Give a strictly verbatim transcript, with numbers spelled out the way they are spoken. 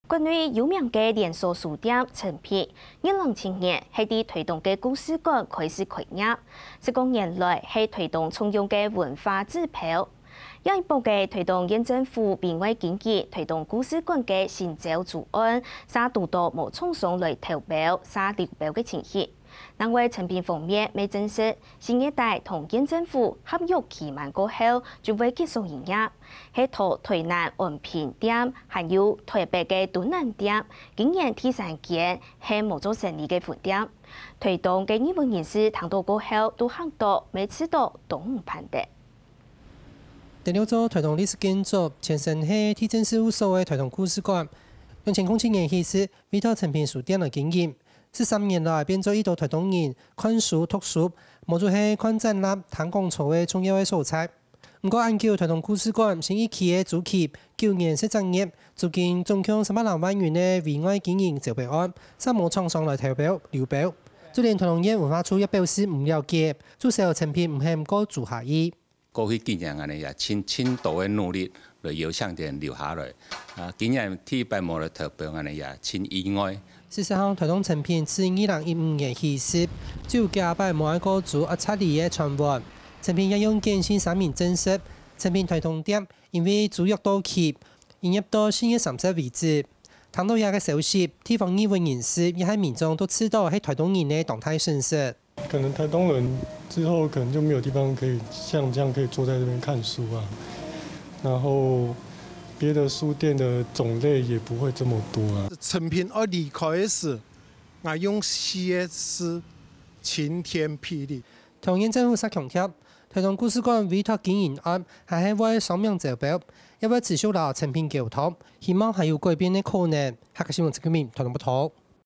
國內有名个連鎖書店誠品，二零一七年係在臺東个故事館開始開業，十過年來係臺東重要个文化指標。這一駁个臺東縣政府委外經營臺東故事館个新洲左岸，嗄堵著無廠商來投標、嗄流標个情形。 另外，誠品方面乜證實，四月底同縣政府合約期滿過後，就會結束營業。係在臺南安平店，還有臺北个敦南店，今年第三間係無做生理个分店。臺東个業務人士聽著過後，都嚇著，乜試著當毋盼得。第六座臺東歷史建築，前身係地政事務所个臺東故事館，兩千空七年起始委託誠品書店來經營。 十三年來，變做一兜臺東人看書、讀書，無就係看展覽、聽講座个重要个所在。毋過，恁久臺東故事館新一期个租期九年十隻月，租金總共三百零萬銀个委外經營招標案，嗄無廠商來投標、流標。就連臺東縣文化處也表示毋了解，就愁誠品毋肯過租下去。 過去幾年恁呢也盡盡多个努力來邀請佢等留下來。啊，今年第一擺無來投標恁呢也盡意外。事實上，臺東誠品自二零一五年起始，就有幾下擺無愛過租啊，撤離个傳聞。誠品也用簡訊聲明證實，誠品臺東店因為租約到期，營業到四月三十為止。聽著這个消息，地方議會人士也係民眾都試著係臺東人个當大損失。 可能臺東人之後可能就沒有地方可以像這樣可以坐在這邊看書啊，然後別的書店的種類也不會這麼多啊。誠品愛離開个時，𠊎用四個字：晴天霹靂。桃園政府嗄強調，臺東故事館委託經營案還係會雙面招標，也會持續摎誠品溝通，希望還有改變个可能。客家新聞陳啟明，臺東報導。